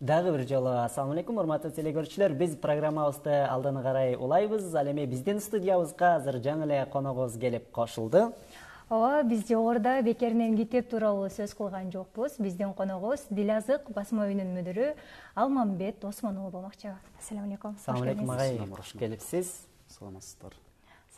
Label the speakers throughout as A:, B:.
A: Дагы бир жолу ассаламу алейкум, урматтуу телекөрүүчүлөр. Биз программабызды алдыны карай улайбыз. Ал эми биздин студиябызга азыр жаңы эле коногубуз келип кошулду.
B: Ооба, биз жогоруда бекеринен китеп тууралуу сөз кылган жокпуз. Биздин коногубуз Дилазык басма үйүнүн мүдүрү Алмамбет Осмон уулу болмокчу. Ассаламу алейкум.
A: Ассаламу алейкум агай, кош келипсиз.
C: Саламатсыздар.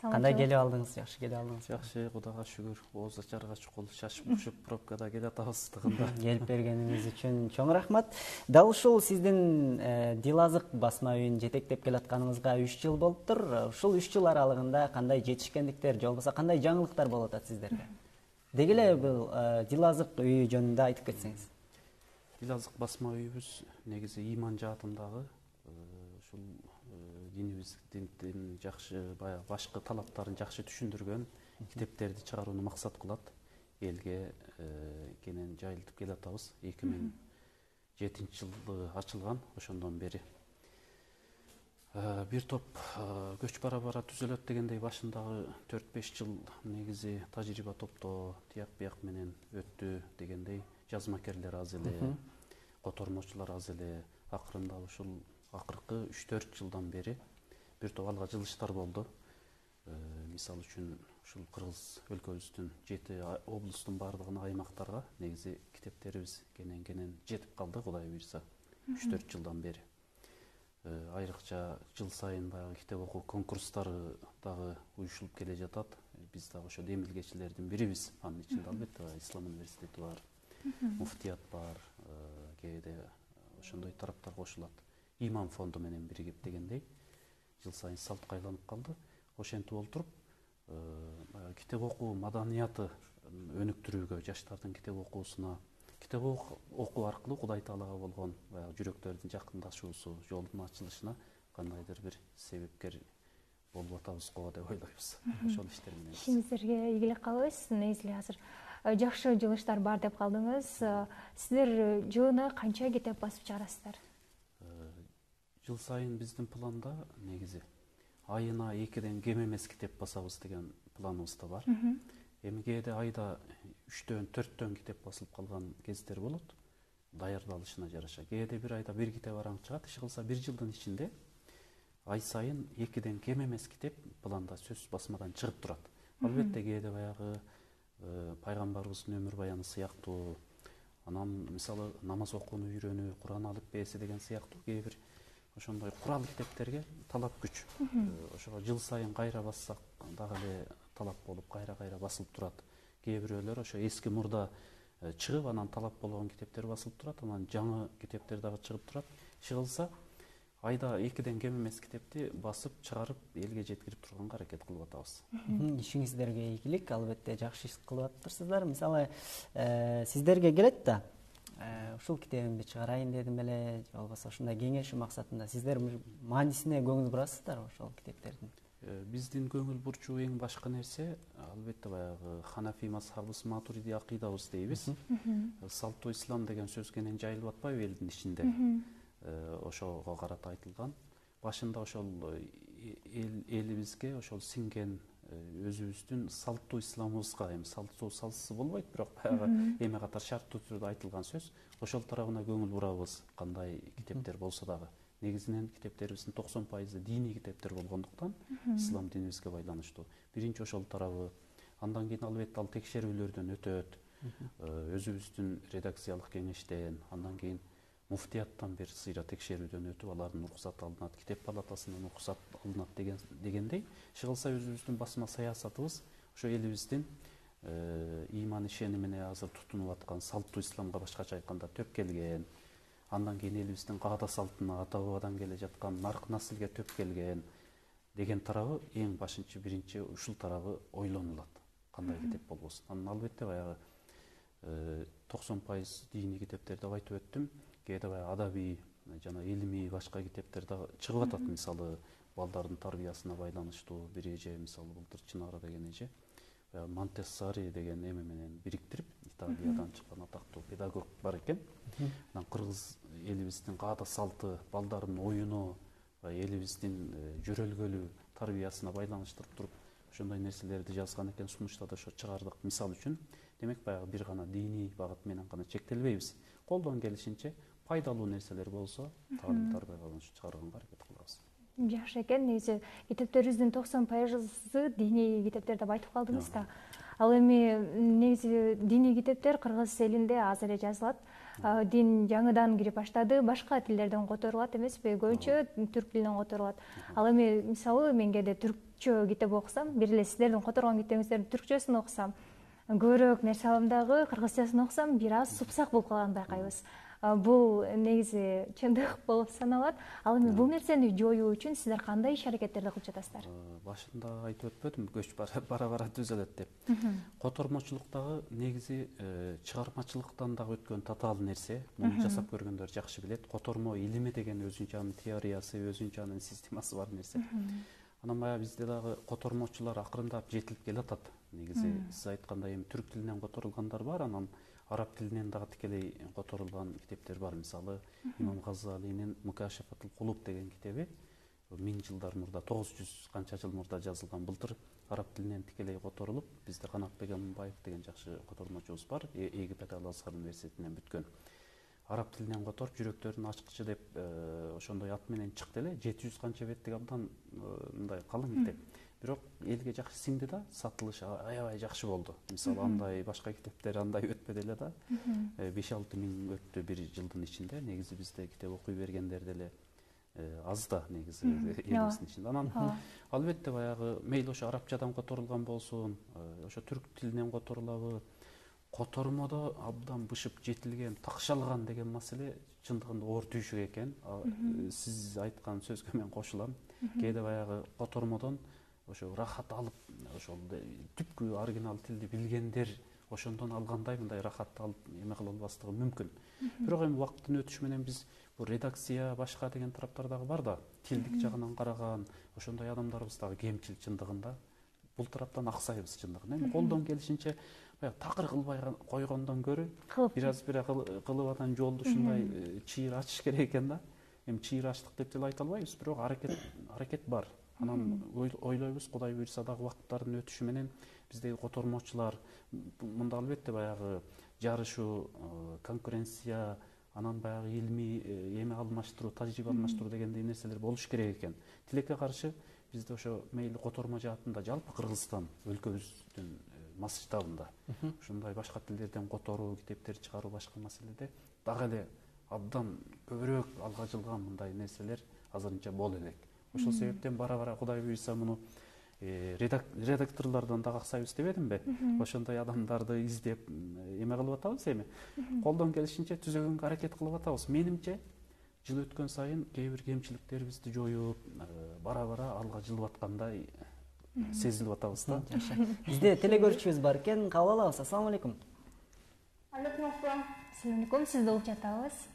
A: Кандай келип алдыңыз? Жакшы келип алдыңыз.
C: Жакшы, Кудайга шүгүр. Ооз ачарга чукул шашып ушуп пробкада келе атабыз тыгында.
A: Келип бергениңиз үчүн чоң рахмат. Дал ушул сиздин Дилазык басма үйүн жетектеп келатканыңызга 3 жыл болуптур. Ушул 3 жыл аралыгында кандай жетишкендиктер, же болбосо кандай жаңылыктар болуп атат сиздерге? Деги эле бул Дилазык үйү жөнүндө айтып кетсеңиз.
C: Дилазык басма үйүбүз негизи иман жаатындагы ушул динибиздин жакшы баягы башкы талаптарын жакшы түшүндүргөн китептерди чыгарууну максат кылат. Элге кенен жайылтып келе атабыз. 2007-жылы ачылган, ошондон бери. Бир топ көч бара түзөлөт дегендей башындагы 4-5 жыл негизи тажрыйба топтоо, тияк бияк менен өттү дегендей жазмакерлер аз эле, котормочулар аз эле. Акырында ушул акыркы 3-4 жылдан бери бир топ алга жылыштар болду. Мисалы үчүн ушул Кыргыз өлкөбүздүн 7 облустун бардыгына, аймактарга негизи китептерибиз кенен жетип калды, Кудай буйрса, 3-4 жылдан бери. Айрыкча жыл сайын баягы китеп окуу конкурстары дагы уюшулуп келе жатат. Биз дагы ошо демилгечилердин бирибиз. Анын ичинде албетте Ислам университети бар, муфтият бар, кээде ошондой тараптар кошулат. Иман фонду менен биригип дегендей жыл сайын салтка айланып калды. Ошентип олтуруп китеп окуу маданияты өнүктүрүүгө, жаштардын китеп окуусуна, китеп окуу аркылуу Кудай Таалага болгон баягы жүрөктөрдүн жакындашуусу, жолдун ачылышына кандайдыр бир себепкер болуп атабыз го деп ойлойбуз. Ошол иштер менен.
B: Ишиңиздерге ийгилик каалайбыз. Негизи азыр жакшы жылыштар бар деп калдыңыз. Сиздер жылына канча китеп басып чыгарасыздар?
C: Жыл сайын биздин планда негизи айына 2ден кем эмес китеп басабыз деген планыбызда бар. Эми кээде айда 3дөн 4дөн китеп басылып калган кездер болот. Даярдалышына жараша. Кээде бир айда бир китеп араң чыгат. Иш кылса бир жылдын ичинде ай сайын 2ден кем эмес китеп планда сөзсүз басмадан чыгып турат. Албетте кээде баягы пайгамбарыбыздын өмүр баяны сыяктуу, анан мисалы намаз окууну үйрөнүү, Куран алифбеси деген сыяктуу кээ бир ошондой курал китептерге талап күч. Ошого жыл сайын кайра бассак дагы эле талап болуп кайра басылып турат. Кээ бирөөлөр ошо эски мурда чыгып, анан талап болгон китептер басылып турат, анан жаңы китептер дагы чыгып турат. Иш кылса айда 2ден кем эмес китепти басып чыгарып элге жеткирип турганга аракет кылып атабыз.
A: Ишиңиздерге ийгилик, албетте жакшы иш кылып атыптырсыздар. Мисалы, сиздерге келет да, ушул китебимди чыгарайын дедим эле, же болбосо ушундай кеңешүү максатында сиздер маанисине көңүл бурасыздар ошол китептердин?
C: Биздин көңүл бурчу эң башкы нерсе албетте баягы Ханафи мазхабыбыз, Матуриди акыйдабыз дейбиз. Салтуу ислам деген сөз кенен жайылып атпайбы элдин ичинде? Ошого карата айтылган. Башында ошол элибизге ошол сиңген өзүбүздүн салттуу исламыбызга, эми салттуу салсыз болбойт, бирок баягы эме катар шарттуу түрдө айтылган сөз. Ошол тарабына көңүл бурабыз, кандай китептер болсо дагы. Негизинен китептерибиздин 90% диний китептер болгондуктан, ислам динибизге байланыштуу. Биринчи ошол тарабы. Андан кийин албетте ал текшерүүлөрдөн өтөт. Өзүбүздүн редакциялык кеңештен, андан кийин муфтияттан бир сыйра текшерүүдөн өтүп, алардын уруксаты алынат, китеп палатасынан уруксат алынат дегендей. Иш кылса өзүбүздүн басма саясатыбыз ошо элибиздин иман ишенимине азыр тутунуп аткан салттуу исламга башкача айтканда төп келген. Андан кийин элибиздин каада салтына, ата бабадан келе жаткан нарк наслге төп келген деген тарабы эң башынчы биринчи ушул тарабы ойлонулат. Кандай китеп болбосун. Анан албетте баягы 90% диний китептер деп айтып өттүм. Кээде баягы адабий жана илимий башка китептер дагы чыгып атат. Мисалы балдардын тарбиясына байланыштуу бир эже, мисалы былтыр Чынара деген эже Монтессори деген эме менен бириктирип, Италиядан чыккан атактуу педагог бар экен. Анан кыргыз элибиздин каада салты, балдардын оюну, элибиздин жөрөлгөлүү тарбиясына байланыштырып туруп ошондой нерселерди жазган экен. Сунуштада ошо чыгардык. Мисалы үчүн, демек баягы бир гана диний багыт менен гана чектелбейбиз. Колдон келишинче пайдалуу нерселер болсо таалим тарбияга чыгарганга аракет кылабыз.
B: Жакшы экен. Негизи китептерибиздин 90% диний китептер деп айтып калдыңыз да. Ал эми негизи диний китептер кыргыз элинде азыр эле жазылат. Дин жаңыдан кирип баштады, башка тилдерден которулат эмеспи? Көбүнчө түрк тилинен которулат. Ал эми мисалы мен кээде түркчө китеп окусам, бир эле сиздердин которгон китебиңиздердин түркчөсүн окусам, көбүрөөк нерсе алам дагы, кыргызчасын окусам бир аз супсак болуп калганын байкайбыз. Бул негизи чындык болуп саналат. Ал эми бул нерсени жоюу үчүн сиздер кандай иш-аракеттерди кылып жатасыздар?
C: Башында айтып өтпөдүм, көч бара түзөлөт деп. Котормочулуктагы негизи чыгармачылыктан дагы өткөн татаал нерсе. Муну жасап көргөндөр жакшы билет. Котормо илими деген өзүнчө анын теориясы, өзүнчө анын системасы бар нерсе. Анан баягы бизде дагы котормочулар акырындап жетилип келатат. Негизи сиз айткандай эми түрк тилинен которулгандар бар, анан араб тилинен дагы тикелей которулган китептер бар. Мисалы, Имам Газалинин Мукашафатул Кулуб деген китеби 1000 жылдар мурда, 900 канча жыл мурда жазылган. Былтыр араб тилинен тикелей которулуп, бизде Канатбек Аманбаев деген жакшы котормочубуз бар, Египет Ал-Азхар университетинен бүткөн. Араб тилинен которуп, жүрөктөрүн ачкычы деп ошондой ат менен чыкты эле. 700 канча беттик абдан мындай калың китеп. Бирок элге жакшы сиңди да, сатылышы аябай жакшы болду. Мисалы, андай башка китептер андай өтпөдү эле да. 5-6 миң өттү бир жылдын ичинде. Негизи бизде китеп окуй бергендер деле аз да негизи элибиздин ичинде. Анан албетте баягы мейли ошо арабчадан которулган болсун, ошо түрк тилинен которулабы, котормодо абдан бышып жетилген, такшалган деген маселе чындыгында оор түйшүк экен. Сиз айткан сөзгө мен кошулам. Кээде баягы котормодон ошо рахат алып, ошол түпкү оригинал тилди билгендер ошондон алгандай мындай рахатты алып эме кыла албастыгы мүмкүн. Бирок эми убакыттын өтүшү менен биз бул редакция башка деген тараптар дагы бар да, тилдик жагынан караган ошондой адамдарыбыз дагы кемчил чындыгында. Бул тараптан аксайбыз чындыгында. Эми колдон келишинче баягы такыр кылбай койгондон көрө бир аз кылып анан жолду ушундай чыйыр ачыш керек экен да. Эми чыйыр ачтык деп деле айта албайбыз, бирок аракет бар. Анан ойлойбуз, Кудай буйрса дагы убакыттардын өтүшү менен биздеги котормочулар мында албетте баягы жарышуу, конкуренция, анан баягы илмий эме алмаштыруу, тажрыйба алмаштыруу дегендей нерселер болуш керек экен. Тилекке каршы бизде ошо мейли котормо жаатында жалпы Кыргызстан өлкөбүздүн масштабында ушундай башка тилдерден которуу, китептер чыгаруу башка маселеде дагы эле абдан көбүрөөк алга жылган мындай нерселер азырынча боло элек. Ошол себептен бара-бара Кудай буйрса муну редакторлордон дагы аксайбыз дебедимби? Ошондой адамдарды издеп эме кылып атабыз эми. Колдон келишинче түзөгөнгө аракет кылып атабыз. Менимче жыл өткөн сайын кээ бир кемчиликтерибизди жоюп, бара-бара алга жылып аткандай сезилип атабыз да.
A: Бизде телегөрүүчүбүз бар экен, кабыл алабыз. Ассалам алейкум.
D: Алейкум ассалам.
B: Assalamu alaikum, sizdi uğup жатабыз.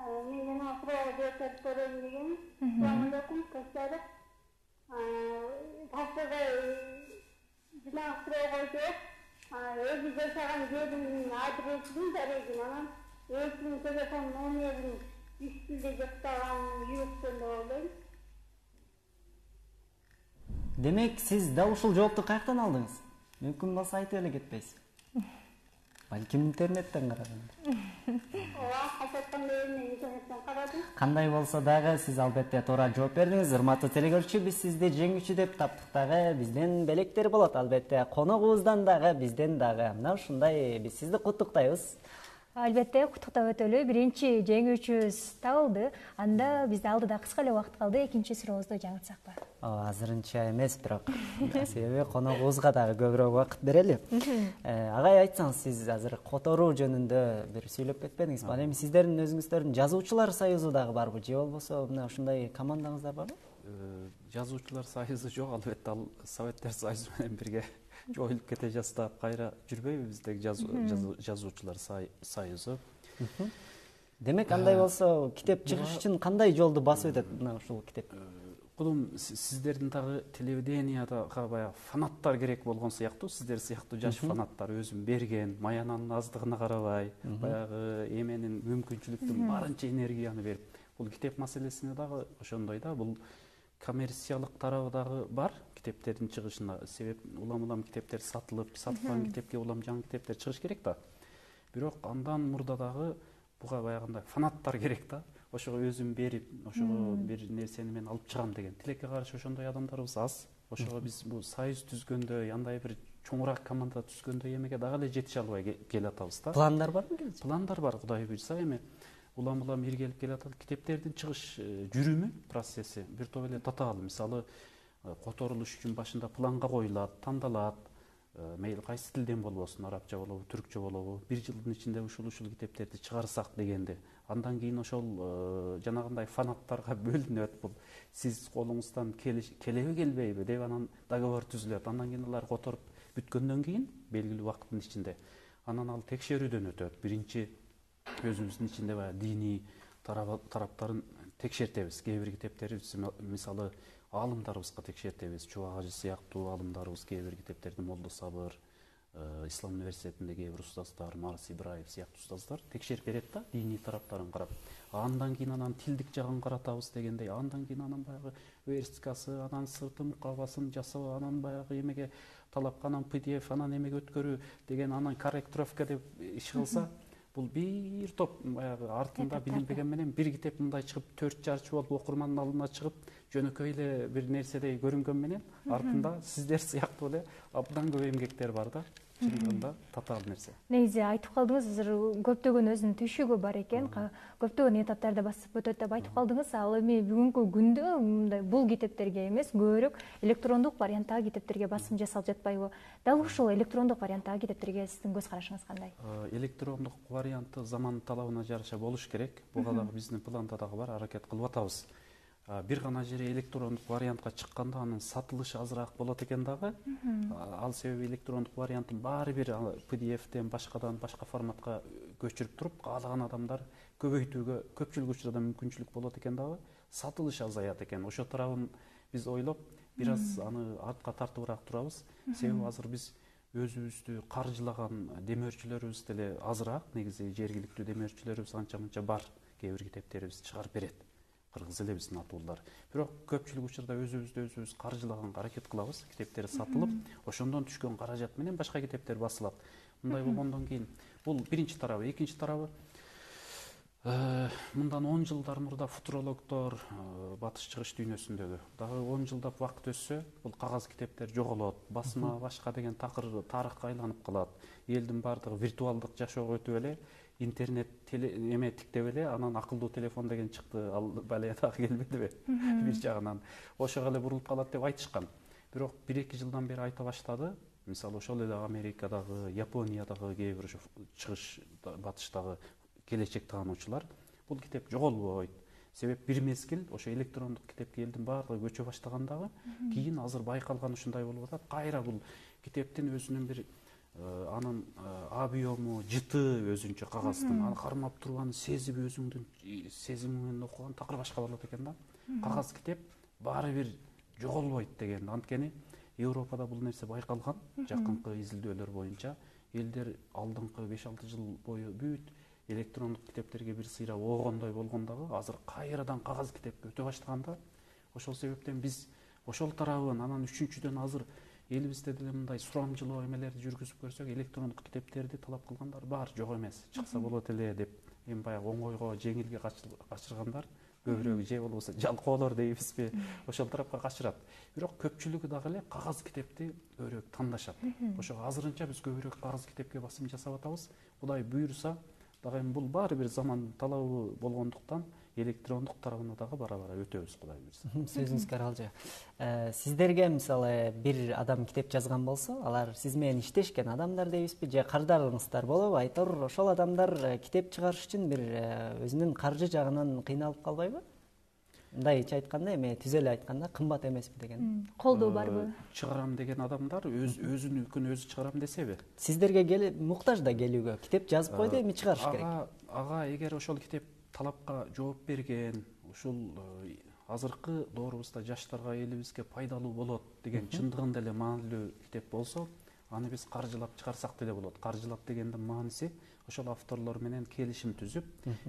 D: Men жана суроо жооп көрөм деген. Assalamu alaikum, кастары. Кастары жана суроо койду. Өзү жашаган жердин адресин берген, анан өзүнүн телефон номерин үстүндө жактаган жүрөктөн ойлойм.
A: Демек, сиз да ушул жоопту каяктан алдыңыз? Мүмкүн болсо айтып эле кетпейсиз. Балким интернеттен карадыңыз. Кандай болсо дагы сиз албетте туура жооп бердиңиз. Урматтуу телегөрүүчү, биз сизди жеңүүчү деп таптык дагы. Бизден белектер болот албетте. Коногубуздан дагы, бизден дагы. Мына ушундай биз сизди куттуктайбыз.
B: Албетте куттуктап өтөлү. Биринчи жеңүүчүбүз табылды. Анда бизде алдыда кыска эле убакыт калды. Экинчи сурообузду жаңыртсакпы?
A: Азырынча эмес, бирок себеби коногубузга дагы көбүрөөк убакыт берели. Агай, айтсаңыз, сиз азыр которуу жөнүндө бир сүйлөп кетпедиңиз. Ал эми сиздердин өзүңүздөрдүн жазуучулар союзу дагы барбы? Же болбосо мына ушундай командаңыздар барбы?
C: Жазуучулар союзу жок, албетте ал Советтер союзу менен бирге жоюлуп кете жаздап кайра жүрбөйбү биздеги жазуучулар союзу.
A: Демек, андай болсо китеп чыгыш үчүн кандай жолду басып өтөт мына ушул китеп?
C: Кулум, сиздердин дагы телевиденияда баягы фанаттар керек болгон сыяктуу, сиздер сыяктуу жаш фанаттар өзүн берген, маянанын аздыгына карабай, баягы эменин мүмкүнчүлүктүн барынча энергияны берип, бул китеп маселесине дагы ошондой да, бул коммерциялык тарабы дагы бар китептердин чыгышына. Себеп улам китептер сатылып, саткан китепке улам жаңы китептер чыгыш керек да. Бирок андан мурда дагы буга баягындай фанаттар керек да. Ошого өзүм берип, ошого бир нерсени мен алып чыгам деген. Тилекке каршы ошондой адамдарыбыз аз. Ошого биз бул союз түзгөндө, андай бир чоңураак команда түзгөндө эмеге дагы эле жетише албай келатабыз да.
A: Пландар барбы?
C: Пландар бар, Кудай буйрса. Эми улам иргелип келатат. Китептердин чыгыш жүрүмү, процесси бир топ эле татаал. Мисалы, которулуш үчүн башында планга коюлат, тандалат. Мейли кайсы тилден болбосун, арабча болобу, түркчө болобу, бир жылдын ичинде ушул китептерди чыгарсак дегенде. Андан кийин ошол жанагындай фанаттарга бөлүнөт. Бул сиз колуңуздан келеби келбейби деп анан договор түзүлөт. Андан кийин алар которуп бүткөндөн кийин белгилүү убакыттын ичинде анан ал текшерүүдөн өтөт. Биринчи өзүбүздүн ичинде баягы диний тараптарын текшертебиз. Кээ бир китептерибиз, мисалы, аалымдарыбызга текшертебиз. Чубак ажы сыяктуу аалымдарыбыз, кээ бир китептерди Молдо Сабыр, Ислам университетинде кээ бир устаздар, Марс Ибраев сыяктуу устаздар текшерип берет да, диний тараптарын карап. Андан кийин анан тилдик жагын каратабыз дегендей. Андан кийин анан баягы версткасы, анан сырты мукабасын жасоо, анан баягы эмеге талапка, анан PDF, анан эмеге өткөрүү деген, анан корректировка деп иш кылса, бул бир топ баягы артында билинбеген менен бир китеп мындай чыгып 4 жарчы болуп окурмандын алдына чыгып жөнөкөй эле бир нерседей көрүнгөн менен артында сиздер сыяктуу эле абдан көп эмгектер бар да. Чындыгында татаал нерсе.
B: Негизи айтып калдыңыз, азыр көптөгөн өзүнүн түйшүгү бар экен, көптөгөн этаптарды басып өтөт деп айтып калдыңыз. Ал эми бүгүнкү күндө мындай бул китептерге эмес, көбүрөөк электрондук варианттагы китептерге басым жасалып жатпайбы? Дал ушул электрондук варианттагы китептерге сиздин көз карашыңыз кандай?
C: Электрондук варианты заман талабына жараша болуш керек. Буга дагы биздин планда дагы бар, аракет кылып атабыз. Бир гана жери электрондук вариантка чыкканда анын сатылышы азыраак болот экен дагы. Ал себеби электрондук вариантын баары бир PDF-тен башка форматка көчүрүп туруп, каалаган адамдар көбөйтүүгө көпчүлүк учурда мүмкүнчүлүк болот экен дагы. Сатылыш азаят экен. Ошо тарабын биз ойлоп, бир аз аны артка тартыбыраак турабыз. Себеби азыр биз өзүбүздү каржылаган демөөрчүлөрүбүз деле азыраак. Негизи жергиликтүү демөөрчүлөрүбүз анча-мынча бар. Кээ бир китептерибизди чыгарып берет. Кыргыз эле биздин атуулар. Бирок көпчүлүк учурда өзүбүз каржылаганга аракет кылабыз. Китептер сатылып, ошондон түшкөн каражат менен башка китептер басылат. Мындай болгондон кийин бул биринчи тарабы. Экинчи тарабы, мындан 10 жылдар мурда футурологдор батыш чыгыш дүйнөсүндөгү дагы 10 жылдап убакыт өтсө, бул кагаз китептер жоголот, басма башка деген такыр тарыхка айланып калат. Элдин баардыгы виртуалдык жашоого өтүп эле, интернет эме тиктеп эле, анан акылдуу телефон деген чыкты, ал бале дагы келбедиби? Бир жагынан ошого эле бурулуп калат деп айтышкан. Бирок 1-2 жылдан бери айта баштады. Мисалы, ошол эле Америкадагы, Япониядагы кээ бир чыгыш батыштагы келечек таануучулар бул китеп жоголбойт. Себеп бир мезгил ошо электрондук китепке элдин баардыгы көчө баштагандагы, кийин азыр байкалган ушундай болуп атат. Кайра бул китептин өзүнүн бир анын объему, жыты өзүнчө кагаздын, аны кармап турган сезип өзүңдүн сезимиң менен окуган такыр башка болот экен да. Кагаз китеп баары бир жоголбойт деген. Анткени Европада бул нерсе байкалган, жакынкы изилдөөлөр боюнча. Элдер алдыңкы 5-6 жыл бою бүт электрондук китептерге бир сыйра оогондой болгондагы, азыр кайрадан кагаз китепке өтө баштаганда, ошол себептен биз ошол тарабын, анан үчүнчүдөн азыр элибизде деле мындай сурамжылоо эмелерди жүргүзүп көрсөк, электрондук китептерди талап кылгандар бар, жок эмес, чыкса болот эле деп, эми баягы оңойго, жеңилге качыргандар көбүрөөк же болбосо жалкоолор дейбизби, ошол тарапка качырат. Бирок көпчүлүгү дагы эле кагаз китепти көбүрөөк тандашат. Ошого азырынча биз көбүрөөк кагаз китепке басым жасап атабыз. Кудай буйруса, дагы эми бул баары бир заман талабы болгондуктан электрондук тарабына дагы бара-бара өтөбүз, Кудай буйруса.
A: Сөзүңүзгө аралжа. Сиздерге мисалы бир адам китеп жазган болсо, алар сиз менен иштешкен адамдар дейбизби, же карждарыңыздар болобу? Айтор ошол адамдар китеп чыгарыш үчүн бир өзүнүн каржы жагынан кыйналып калбайбы? Мындайча айтканда, эми түзө эле айтканда кымбат эмеспи деген.
B: Колдоо барбы?
C: Чыгарам деген адамдар өзүнүкүн өзү чыгарам десеби?
A: Сиздерге муктаж да келүүгө, китеп жазып койду, эми чыгарыш керек.
C: Ага эгер ошол китеп талапка жооп берген, ушул азыркы доорубузда жаштарга, элибизге пайдалуу болот деген чындыгында эле маанилүү китеп болсо, аны биз каржылап чыгарсак деле болот. Каржылап дегендин мааниси ошол авторлор менен келишим түзүп,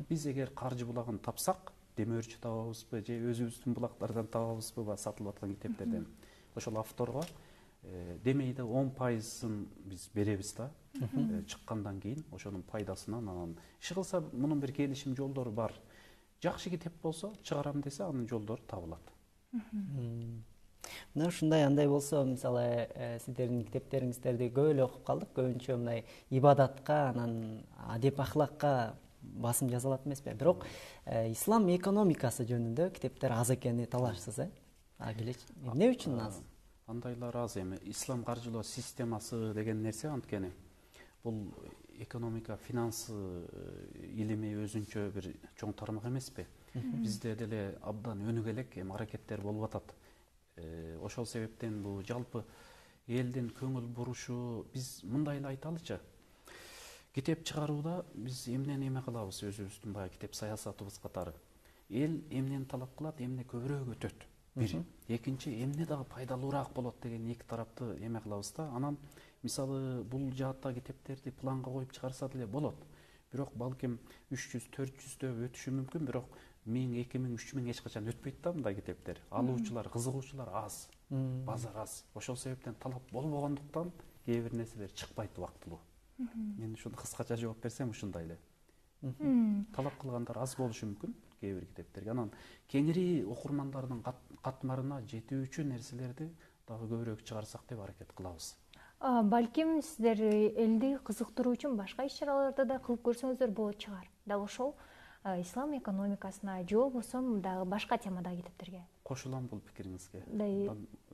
C: биз эгер каржы булагын тапсак, демөөрчү табабызбы же өзүбүздүн булактардан табабызбы сатылып аткан китептерден, ошол авторго демейде 10%-ын биз беребиз да. Чыккандан кийин ошонун пайдасынан анан иши кылса мунун бир келишим жолдору бар. Жакшы китеп болсо чыгарам десе анын жолдору табылат.
A: Мына ушундай андай болсо, мисалы, сиздердин китептериңиздерди көп эле окуп калдык. Көбүнчө мындай ибадатка, анан адеп ахлакка басым жасалат эмеспи? Бирок ислам экономикасы жөнүндө китептер аз экени талашсыз, эмне үчүн аз?
C: Андайлар аз эми. Ислам каржылоо системасы деген нерсе анткени бул экономика, финанс илими өзүнчө бир чоң тармак эмеспи? Бизде деле абдан өнүгө элек аракеттер болуп атат. Ошол себептен бул жалпы элдин көңүл бурушу, биз мындай эле айталычы. Китеп чыгарууда биз эмнени эме кылабыз, өзүбүздүн баягы китеп саясатыбыз катары. Эл эмнени талап кылат, эмне көбүрөөк өтөт. Бир. Экинчи, эмне дагы пайдалуураак болот деген эки тарапты эме кылабыз да. Анан мисалы бул жаатта китептерди планга коюп чыгарса деле болот. Бирок балким 300-400 өтүшү мүмкүн, бирок 1000, 2000, 3000 эч качан өтпөйт да мындай китептер. Алуучулар, кызыгуучулар аз, базар аз. Ошол себептен талап болбогондуктан кээ бир нерселер чыкпайт убактылуу. Мен ушуну кыскача жооп берсем ушундай эле. Талап кылгандар аз болушу мүмкүн кээ бир китептерге. Анан кеңири окурмандардын катмарына жетүүчү нерселерди дагы көбүрөөк чыгарсак деп аракет кылабыз.
B: Балким сиздер элди кызыктыруу үчүн башка иш-чараларды да кылып көрсөңүздөр болот чыгар. Дал ошол ислам экономикасына же болбосо дагы башка темадагы китептерге.
C: Кошулам бул пикириңизге.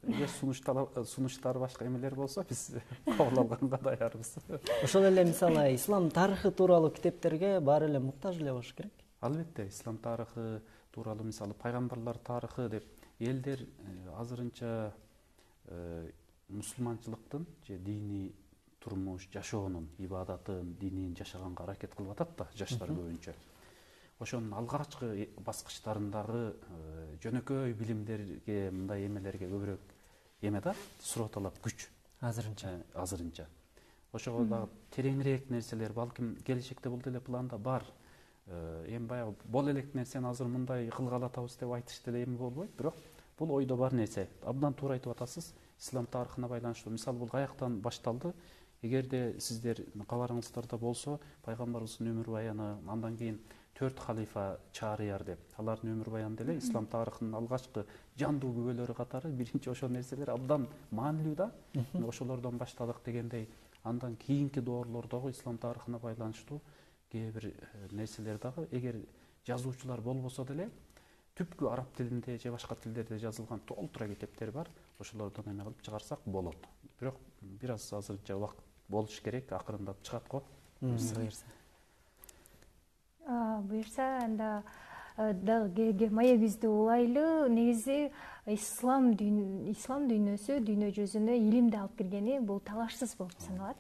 C: Эгер сунуштар башка эмелер болсо биз кабыл алганга даярбыз.
A: Ошол эле мисалы ислам тарыхы тууралуу китептерге баары эле муктаж эле болуш керек.
C: Албетте, ислам тарыхы тууралуу мисалы пайгамбарлар тарыхы деп элдер азырынча мусулманчылыктын же диний турмуш, жашоонун, ибадатын, динин жашаганга аракет кылып атат да жаштар көбүнчө. Ошонун алгачкы баскычтарындагы жөнөкөй билимдерге, мындай эмелерге көбүрөөк эме да, суроталап күч азырынча. Ошого дагы тереңирээк нерселер балким келечекте бул деле планда бар. Эми баягы бол элек нерсени азыр мындай кылгалы атабыз деп айтыш деле эми болбойт, бирок бул ойдо бар нерсе. Абдан туура айтып атасыз. Ислам тарыхына байланыштуу. Мисалы бул каяктан башталды? Эгерде сиздер кабарыңыздарда болсо, пайгамбарыбыздын өмүр баяны, андан кийин 4 халифа чаарыяр деп, алардын өмүр баяны деле ислам тарыхынын алгачкы жандуу күбөлөрү катары биринчи ошол нерселер абдан маанилүү да. Ошолордон баштадык дегендей, андан кийинки доорлордогу ислам тарыхына байланыштуу кээ бир нерселер дагы эгер жазуучулар болбосо деле түпкү араб тилинде же башка тилдерде жазылган толтура китептер бар. Ошолордон эме кылып чыгарсак болот. Бирок бир аз азырынча убакыт болуш керек, акырындап чыгат го.
B: Буюрса анда дагы маегибизди улайлы. Негизи ислам дүйнөсү дүйнө жүзүнө илимди алып киргени бул талашсыз болуп саналат.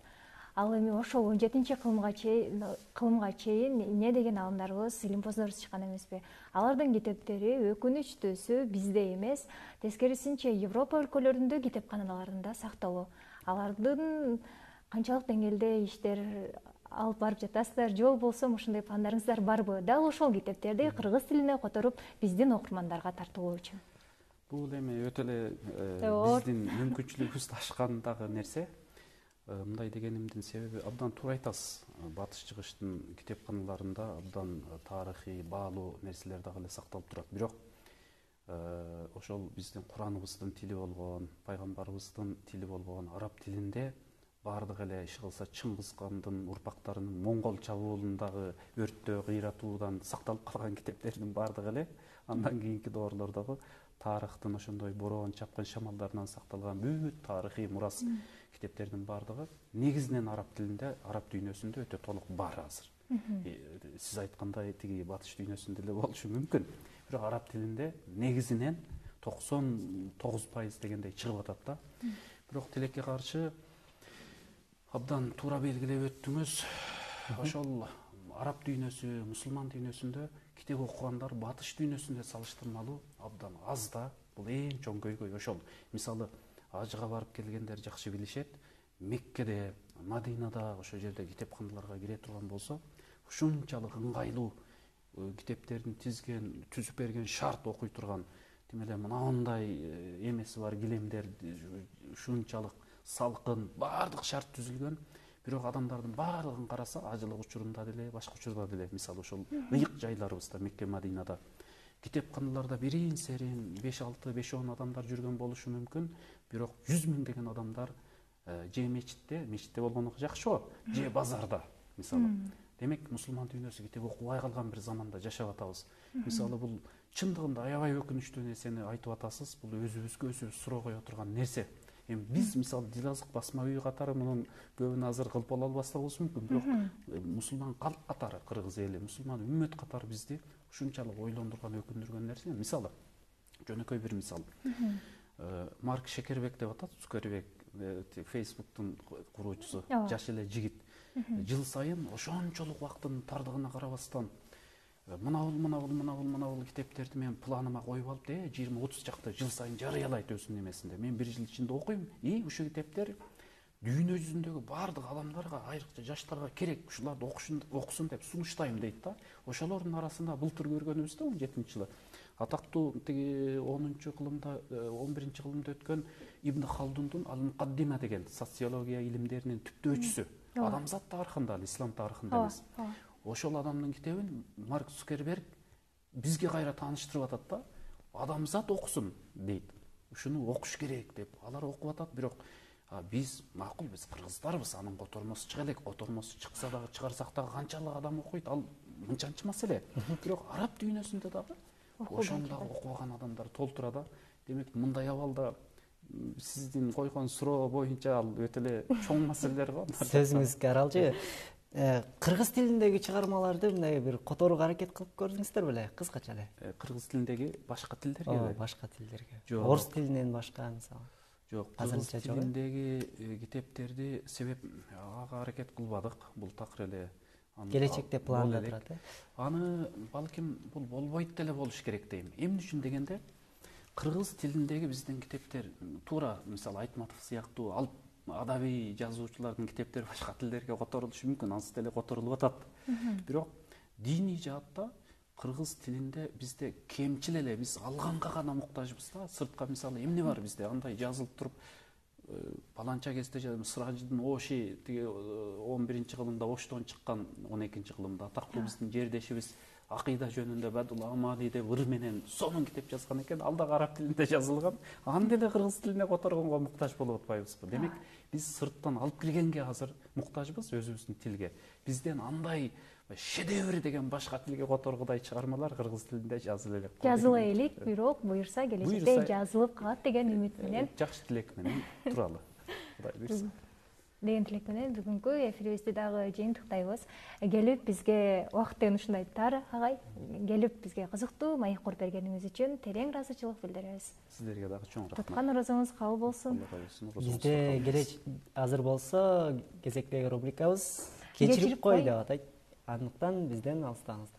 B: Ал эми ошол 17 кылымга чейин эмне деген аалымдарыбыз, илимпоздорубуз чыккан эмеспи? Алардын китептери өкүнүчтүүсү бизде эмес, тескерисинче Европа өлкөлөрүндө китепканаларында сакталуу. Алардын канчалык деңгээлде иштер алып барып жатасыздар, же болбосо ушундай пландарыңыздар барбы? Дал ошол китептерди кыргыз тилине которуп биздин окурмандарга тартуулоо үчүн.
C: Бул эми өтө эле биздин мүмкүнчүлүгүбүздү ашкан дагы нерсе. Мындай дегенимдин себеби абдан туура айтасыз. Батыш чыгыштын китепканаларында абдан тарыхый, баалуу нерселер дагы эле сакталып турат. Бирок ошол биздин Кураныбыздын тили болгон, пайгамбарыбыздын тили болгон араб тилинде баардык эле иши кылса Чыңгыз хандын урпактарынын моңгол чабуулундагы өрттөө, кыйратуудан сакталып калган китептердин баардыгы эле андан кийинки доорлордогу тарыхтын ошондой бороон чапкын шамалдарынан сакталган бүт тарыхый мурас китептердин баардыгы негизинен араб тилинде, араб дүйнөсүндө өтө толук бар азыр. Сиз айткандай тиги батыш дүйнөсүндө эле болушу мүмкүн. Бирок араб тилинде негизинен 99% дегендей чыгып атат да. Бирок тилекке каршы абдан туура белгилеп өттүңүз. Ошол араб дүйнөсү, мусулман дүйнөсүндө китеп окугандар батыш дүйнөсүндө салыштырмалуу абдан аз да. Бул эң чоң көйгөй ошол. Мисалы ажыга барып келгендер жакшы билишет. Меккеде, Мадинада ошол жерде китепканаларга кире турган болсо, ушунчалык ыңгайлуу китептердин түзүп берген шарт окуй турган, тим эле мындай эмеси бар килемдер ушунчалык салкын, баардык шарт түзүлгөн. Бирок адамдардын баардыгын караса, ажылык учурунда деле, башка учурда деле, мисалы ошол ыйык жайларыбызда, Мекке, Мадинада китепканаларда бирин серин 5-6, 5-10 адамдар жүргөн болушу мүмкүн, бирок 100 миңдеген адамдар же мечитте болгону жакшыбы, же базарда, мисалы. Демек, мусулман дүйнөсү китеп окубай калган бир заманда жашап атабыз. Мисалы, бул чындыгында аябай өкүнүчтүү нерсени айтып атасыз. Бул өзүбүзгө суроо кое турган нерсе. Эми биз мисалы Дилазык басма үйү катары мунун көбүн азыр кылып боло албастабыз мүмкүн, бирок мусулман калк катары, кыргыз эли, мусулман үммөт катары бизди ушунчалык ойлондурган, өкүндүргөн нерсе. Мисалы, жөнөкөй бир мисал. Марк Шекербек деп атат, Цукербек, Facebooktун куруучусу, жаш эле жигит. Жыл сайын ошончолук убакыттын тардыгына карабастан мына китептерди мен планыма коюп алып, 20-30 чакта жыл сайын жарыялайт өзүнүн эмесинде. Мен бир жыл ичинде окуйм, ушул китептер дүйнө жүзүндөгү баардык адамдарга, айрыкча жаштарга керек, ушуларды окусун деп сунуштайм дейт да. Ошолордун арасында былтыр көргөнүбүздө 17-жылы атактуу тиги 10-кылымда, 11-кылымда өткөн Ибн Халдундун Ал-Мукаддима деген социология илимдеринин түптөөчүсү. Адамзат тарыхында, ислам тарыхында эмес. Ошол адамдын китебин Марк Цукерберг бизге кайра тааныштырып атат да. Адамзат окусун дейт. Ушуну окуш керек деп. Алар окуп атат, бирок биз макул, биз кыргыздарбыз, анын котормосу чыга элек. Котормосу чыкса дагы, чыгарсак дагы канчалык адам окуйт, ал мынчанчы маселе. Бирок араб дүйнөсүндө дагы ошондагы окубаган адамдар толтура да. Демек, мындай абалда сиздин койгон суроо боюнча ал өтө эле чоң маселелер го.
A: Сөзүңүзгө аралчы. Кыргыз тилиндеги чыгармаларды мындай бир которууга аракет кылып көрдүңүздөр беле, кыскача эле?
C: Кыргыз тилиндеги башка тилдерге?
A: Башка тилдерге. Орус тилинен башка, мисалы.
C: Жок, кыргыз тилиндеги китептерди себеп ага аракет кылбадык. Бул такыр эле
A: келечекте планда турат.
C: Аны балким бул болбойт деле болуш керек дейм. Эмне үчүн дегенде, кыргыз тилиндеги биздин китептер туура, мисалы Айтматов сыяктуу алып адабий жазуучулардын китептери башка тилдерге которулушу мүмкүн, ансы деле которулуп атат. Бирок диний жаатта кыргыз тилинде бизде кемчил эле, биз алганга гана муктажбыз да. Сыртка мисалы эмне бар бизде? Андай жазылып туруп, паланча кезде Сыражидин Оши тиги 11-кылымда Оштон чыккан, 12-кылымда атактуу биздин жердешибиз акыйда жөнүндө Бадул Амали деп ыр менен сонун китеп жазган экен, ал дагы араб тилинде жазылган. Аны деле кыргыз тилине которгонго муктаж болуп атпайбызбы? Демек, биз сырттан алып келгенге азыр муктажбыз өзүбүздүн тилге. Бизден андай шедевр деген башка тилге которгудай чыгармалар кыргыз тилинде жазыла элек.
B: Жазыла элек, бирок буюрса келечекте жазылып калат деген үмүт менен.
C: Жакшы тилек менен туралы. Кудай буйрса.
B: Деген тилек менен бүгүнкү эфирибизди дагы жыйынтыктайбыз. Келип бизге убактын ушундай тар, агай, келип бизге кызыктуу маек бергениңиз үчүн терең ыраазычылык билдиребиз.
C: Сиздерге дагы чоң рахмат.
B: Туткан оразоңуз кабыл болсун.
A: Бизде азыр болсо кезектеги рубрикабыз кечирип кой деп атайт. Андыктан бизден алыстаңыздар.